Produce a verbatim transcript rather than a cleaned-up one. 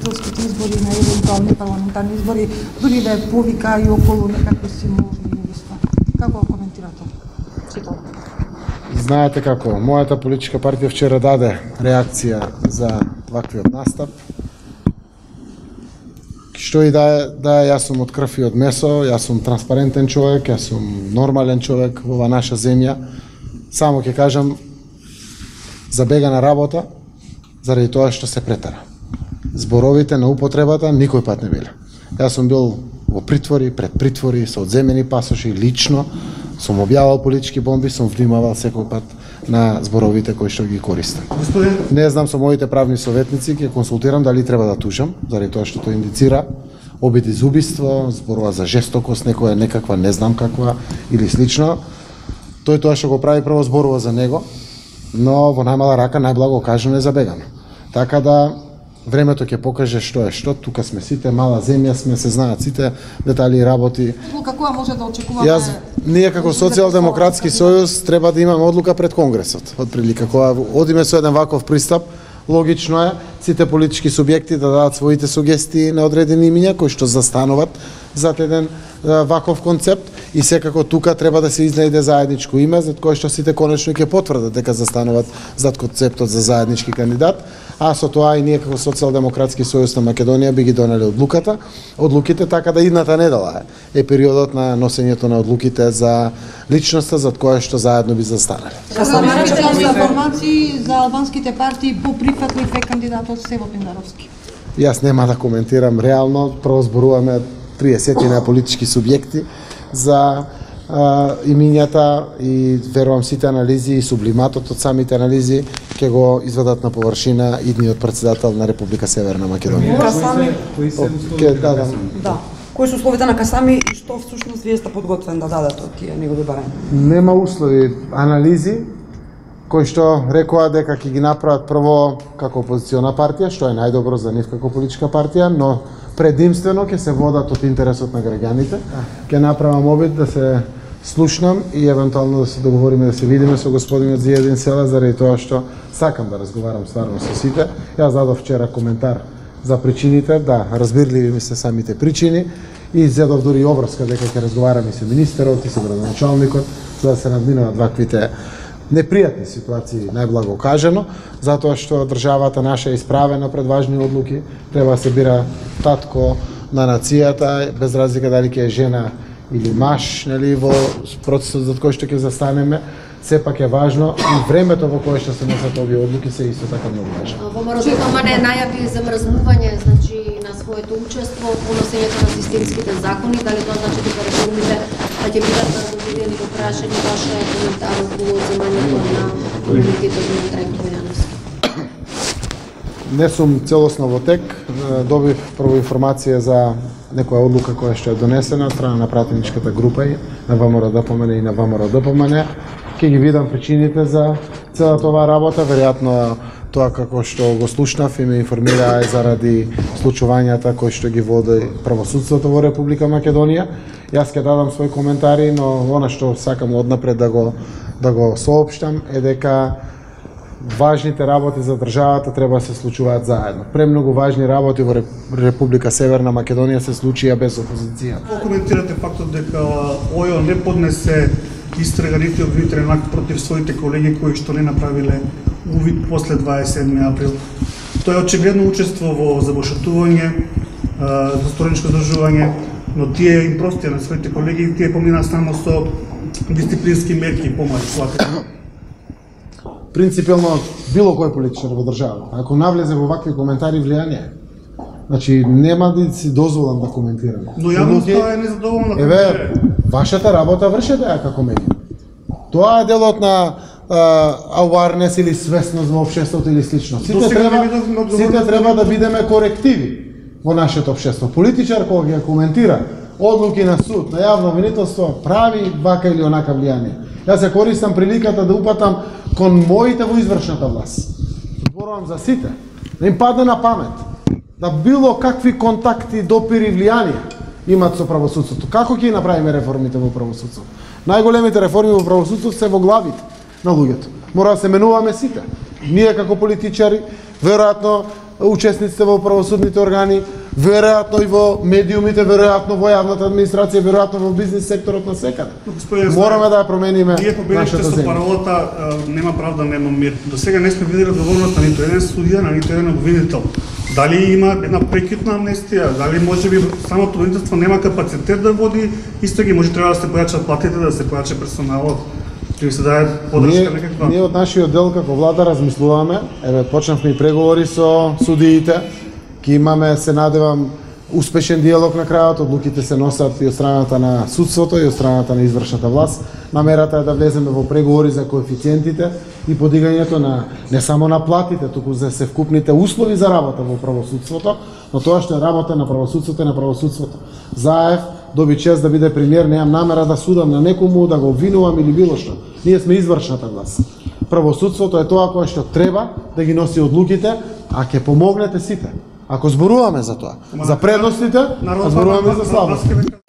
априлските избори, на евентуални парламентарни избори, дури да е повика и околу некакви символи и нешта. Како коментирате? Сето. Знаете како, мојата политичка партија вчера даде реакција за ваквиот настап. Што и да е, да е, јас сум од крв и од месо, јас сум транспарентен човек, јас сум нормален човек во ова наша земја. Само ќе кажам, забегана работа, заради тоа што се претара. Зборовите на употребата никој пат не биле. Јас сум бил во притвори, пред притвори, со одземени пасоши, лично, сум објавал политички бомби, сум внимавал секој пат на зборовите кои што ги користам. Господин... Не знам, со моите правни советници ќе консултирам дали треба да тужам, заради тоа што тоа индицира обиди за убиство, зборува за жестокост, некоја некаква, не знам каква или слично. Тој тоа што го прави прво зборува за него, но во најмала рака најблаго кажано е забегано. Така да времето ќе покаже што е што, тука сме сите, мала земја сме, се знаат сите детали и работи. Каква може да очекуваме? Јас, ние како Социјалдемократски сојуз треба да имаме одлука пред Конгресот. Отприлика, кога одиме со еден ваков пристап, логично е сите политички субјекти да дадат своите сугестии на одредени имиња кои што застануваат зад еден ваков концепт и секако тука треба да се изнајде заедничко име за кое што сите конечно ќе потврдат дека застануваат зад концептот за заеднички кандидат, а со тоа и ние како Социјалдемократски сојуз на Македонија би ги донели одлуката, одлуките, така да идната недела е, е периодот на носењето на одлуките за личноста зад која што заедно би застанале. Размерите информации за албанските партии по прифатлив е кандидатот Сево Пиндаровски. Јас нема да коментирам реално, прво зборуваме триесет на политички субјекти за а, имињата и верувам сите анализи и сублиматот од самите анализи ќе го изведат на површина идниот председател на Република Северна Македонија. Касами, Ке дадам. Да. Кои се условите на Касами и што всушност вие сте подготвен да дадете од тие негови барања? Нема услови, анализи кои што рекоа дека ќе ги направат прво како опозициона партија, што е најдобро за нив како политичка партија, но предимствено ќе се водат од интересот на граѓаните. Ќе направам обид да се слушнам и евентуално да се договориме да се видиме со господинот Зиедин Села, заради тоа што сакам да разговарам стварно со сите. Јас дадов вчера коментар за причините, да, разбирливи ми се самите причини и зедов дури обврска дека ќе разговарам и со министерот и со градоначалникот за да се надминуваат ваквите непријатни ситуации, најблаго кажано, затоа што државата наша е исправена пред важни одлуки, треба да се бира татко на нацијата, без разлика дали ќе е жена или маж, нели, во процесот за кој што ќе застанеме, сепак е важно и времето во кое што се носат овие одлуки се исто така многу важно. ВМРО ДПМН најави замрзнување, значи, на своето учество во носењето на системските закони, дали тоа значи дека реформите ќе бидат разгледани во прашање, ваше коментар околу земањето на имунитетот на Трајко Јановски? Не сум целосно во тек, добив прво информација за некоја одлука која што е донесена од страна на пратеничката група и на ВМРО ДПМН и на ВМРО ДПМН. Ќе ги видам причините за целата оваа работа, веројатно тоа како што го слушнав и ме информира е заради случувањата кои што ги води правосудството во Република Македонија. Јас ќе дадам своји коментари, но она што сакам однапред да го да го соопштам е дека важните работи за државата треба да се случуваат заедно. Премногу важни работи во Република Северна Македонија се случија без опозиција. Како коментирате фактот дека ОЈО не поднесе истрага нити обвинителен акт против своите колеги кои што не направиле увид после дваесет и седми април? Тоа е очигледно учество во забошатување, застороничко здржување, но тие им простија на своите колеги и тие помина само со дисциплински мерки и помали. Принципелно било кој политичар во државата, ако навлезе во вакви коментари влијание, значи нема да си дозволам да коментирам. Но јавноста е незадоволна. Еве, вашата работа вршете ја како медија. Тоа е делот на awareness или свесност во општеството или слично. Сите треба, сите треба да бидеме корективи во нашето општество. Политичар кога ги коментира одлуки на суд, на јавно обвинителство, прави вака или онака влијание. Јас се користам приликата да упатам кон моите во извршната власт. Зборувам за сите. Да им падне на памет да било какви контакти, допири, влијанија имат со правосудството. Како ќе направиме реформите во правосудството? Најголемите реформи во правосудството се во главите на луѓето. Мора да се менуваме сите. Ние како политичари, веројатно учесниците во правосудните органи, веројатно и во медиумите, веројатно во јавната администрација, веројатно во бизнис секторот на секаде. Мораме да ја промениме Вие победите нашата со земја. паролата нема правда, нема мир. До сега не сме видели одговорност на ниту еден судија, на ниту еден обвинител. Дали има една прекитна амнестија, дали можеби самото правителство нема капацитет да води истраги, може треба да се појачат платите, да се појача персоналот, да се даде подршка Ние, некаква. ние од нашиот дел како влада размислуваме, еве почнавме и преговори со судиите, ќе имаме, се надевам, успешен диалог на крајот, одлуките се носат и од страната на судството и од страната на извршната власт. Намерата е да влеземе во преговори за коефициентите и подигањето на не само на платите, туку за севкупните услови за работа во правосудството, но тоа што е работа на правосудството и на правосудството. Заев доби чест да биде премиер, немам намера да судам на некому, да го обвинувам или било што. Ние сме извршната власт. Правосудството е тоа кое што треба да ги носи одлуките, а ќе помогнете сите. Ако зборуваме за тоа, за предностите, а зборуваме и за слабостите.